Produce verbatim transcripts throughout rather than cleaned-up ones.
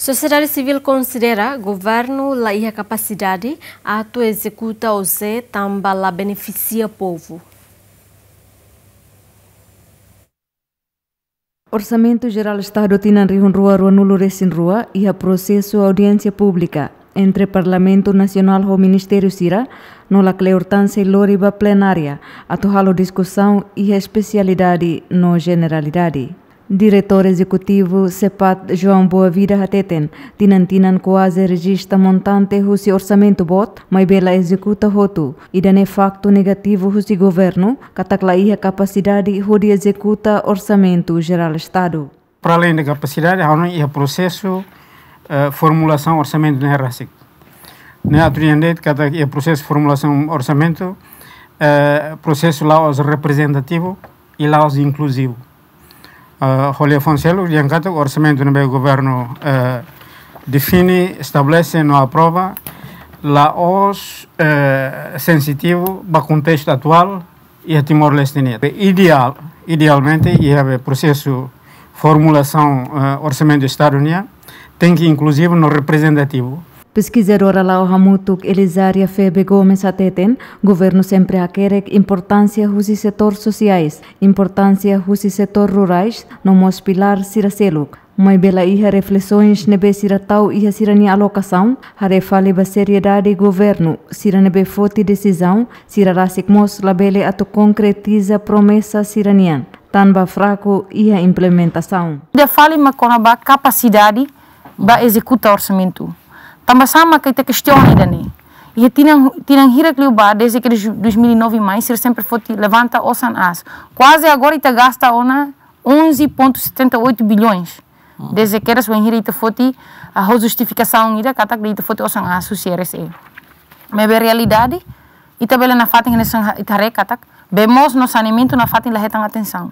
Sosiedade sivíl konsidera governu la iha kapasidade atu ezekuta O J tanba la benefisia povu. Orsamentu Jerál Estadu tinan rihun rua ruanulu resin rua iha prosesu audiénsia públika entre Parlamentu Nasionál ho ministériu sira, no la kleur tan sei lori ba plenária atu halo diskusaun iha espesialidade no jeneralidade. Diretór Ezekutivu SEPAT, João Boavida, hateten, tinan-tinan kuaze rejista montante husi orsamentu boot, maibé la ezekuta hotu, ida-ne'e faktu negativu husi governu, katak la iha kapasidade hodi ezekuta Orsamentu Jerál Estadu. Para além de kapasidade, ha'u hanoin iha prosesu, eh, formulasaun orsamentu ne'e rasik. Ne'e atu dehan de'it katak iha prosesu formulasaun orsamentu, eh, prosesu la'ós reprezentativu i la'ós inkluzivu. Eh, ho liafuan seluk, dehan katak orsamentu ne'ebé governu, eh, define, estabelese no aprova, la'ós, eh, sensitivu ba kontestu atuál iha Timor-Leste nian. Ideál, idealmente, iha be prosesu formulasaun, eh, orsamentu Estadu nian, tenke inkluzivu no reprezentativu. Peskizadora La'o Hamutuk Elizaria Febe Gomes hateten, governu sempre hakerek importánsia husi setór sosiais, importánsia husi setór rurais, no mós pilár sira seluk. Maibé la iha reflesoens ne'ebé sira tau iha sira-nia alokasaun, haree fali ba seriedade governu, sira ne'ebé foti desizaun, sira rasik mós labele atu konkretiza promesa sira-nian, tanba fraku iha implementasaun. Ida fali mak kona-ba kapasidade ba ezekuta orsamentu. Tanba sá mak ita kestiona ida-ne'e? Iha tinan, tinan hirak liubá, desde ke dois mil e nove mai, sira sempre foti levanta osan aas. Kuaze agora ita gasta ona onze ponto setenta e oito bilhões. Desde ke era sua inhira ita foti, ah, ho justifikasaun ida katak ita foti osan aas husi R S E. Maibé realidade, ita bele nafatin hanesan ita haree katak, bee moos no saneamentu nafatin la hetan atensaun.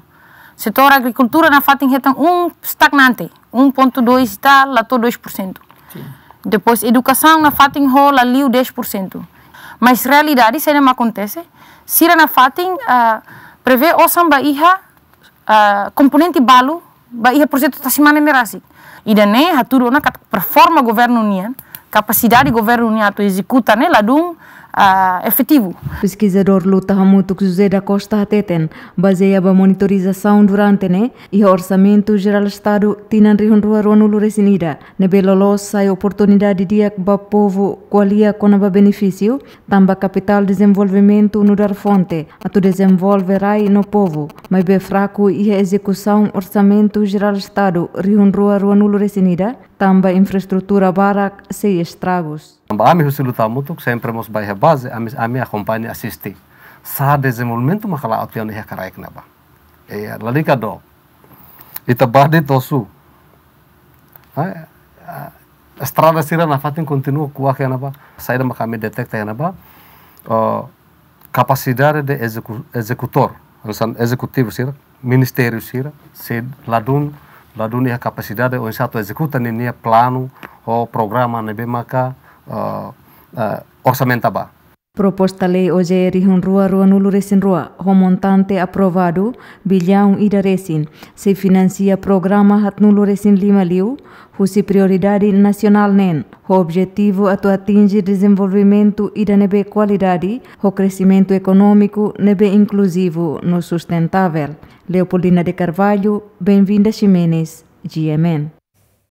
Setór agrikultura nafatin hetan um stagnante, um ponto dois e tal, la to'o dois por cento. Sin. Depois edukasaun nafatin ho la liu dez por cento. Mas realidade, saida mak akontese, sira nafatin, ah, prevee osan ba iha, ah, komponente balu ba iha projetu Tasi Mane ne'e rasik. Ida-ne'e hatudu ona katak performa governu nian, kapasidade governu nian atu ezekuta ne'e ladún, ah, efetivu. Peskizadór Luta Hamutuk José da Costa hateten, bazeia ba monitorizasaun durante ne'e, iha Orsamentu Jerál Estadu tinan rihun rua ruanulu resin ida, ne'ebé loloos sai oportunidade di'ak ba povu ko'alia kona-ba benefísiu, tanba kapitál dezenvolvimentu nu'udar fonte atu dezenvolve rai no povu, maibé fraku iha ezekusaun Orsamentu Jerál Estadu rihun rua ruanulu resin ida, tanba infraestrutura barak sei estragus. Tanba ami husi Luta Hamutuk sempre mós bá iha baze, ami, ami akompaña asiste. Sá dezenvolvimentu mak la'o tiha ona iha kraik ne'ebá. Eh, lalika dook. Ita bá de'it osu. Ah, ah, estrada sira nafatin kontinua kuak iha ne'ebá. Saida mak ami deteta iha ne'ebá? Oh, kapasidade de ezeku-, ezekutór, hanesan ezekutivu sira, ministériu sira, sei ladún, ladún iha kapasidade oinsá atu ezekuta ninia planu ho programa ne'ebé maka, eh, eh, orsamenta ba. Proposta lei O J rihun rua ruanulu resin rua, ho montante aprovadu billaun ida resin, sei finansia programa haatnulu resin lima liu, husi prioridade nasionál neen, ho objetivu atu atinje dezenvolvimentu ida ne'ebé kualidade, ho kresimentu ekonómiku ne'ebé inkluzivu no sustentável. Leopoldina de Carvalho, Benvinda Ximenes, G M N.